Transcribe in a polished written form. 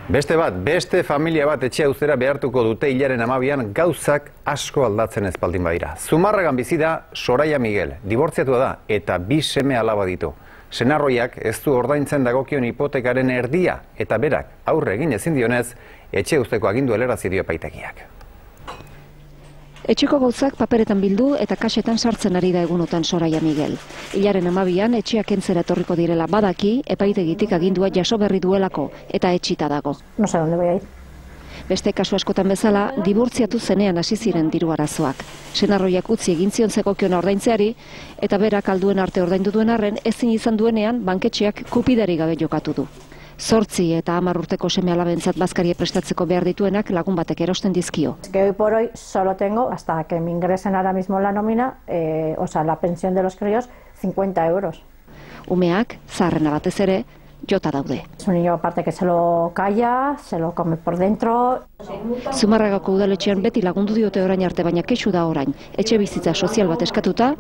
Beste familia bat etxea uztera behartuko dute hilaren 12an gauzak asko aldatzen ez baldin badira. Zumarragan bizi da Soraia Miguel, dibortziatua da eta 2 seme alaba ditu. Senarroiak ez du ordaintzen dagokion hipotekaren erdia eta berak aurre egin ezin dionez, etxe uzteko agindu helarazi dio epaitegiak. Etxeko gauzak paperetan bildu eta kasetan sartzen ari da egunotan Soraia Miguel. Hilaren 12an etxeak kentzera etorriko direla badaki, epaitegitik agindua jaso berri duelako eta etxita dago. No sé dónde voy a ir. Beste kasu askotan bezala, dibortziatu zenean hasi ziren diru arazoak. Senarroiak utzi egin zion zegokiona ordaintzeari eta berak alduen arte ordaindu duen arren ezin izan duenean banketxeak kupidari gabe jokatu du. 8 eta 10 urteko seme alabentzat bazkaria prestatzeko behar dituenak lagun batek erosten dizkio. Que hoy por hoy solo tengo, hasta que me ingresen ahora mismo la nómina, o sea, la pensión de los críos, 50 euros. Umeak, zaharrena batez ere, jota daude. Es un niño aparte que se lo calla, se lo come por dentro. Zumarragako udaletxean beti lagundu diote orain arte, baina kexu da orain. Etxe bizitza sozial bat eskatuta,